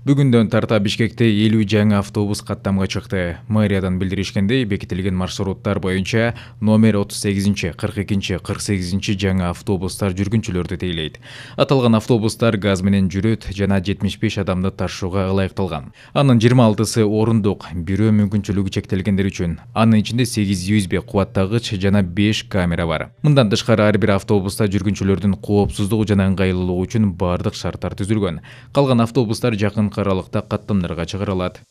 Бүгүндөн тарта Бишкекте 50 жаңы автобус каттамга чыкты. Мэриядан билдиришкендей, бекитилген маршруттар боюнча номер 38, 42, 48 жаңы автобустар жүргүнчүлөрдү тейлейт. Аталган автобустар газ менен жүрөт жана 75 адамды ташууга ылайыкталган. Анын 26сы орундук, бирөө мүмкүнчүлүгү чектелгендер үчүн. Анын ичинде 8 USB кубаттагыч жана 5 камера бар. Мындан тышкары ар бир автобуста жүргүнчүлөрдүн коопсуздугу жана ыңгайлуулугу үчүн бардык шарттар түзүлгөн. Калган автобустар жакын аралыкта каттамдарга чыгарылат.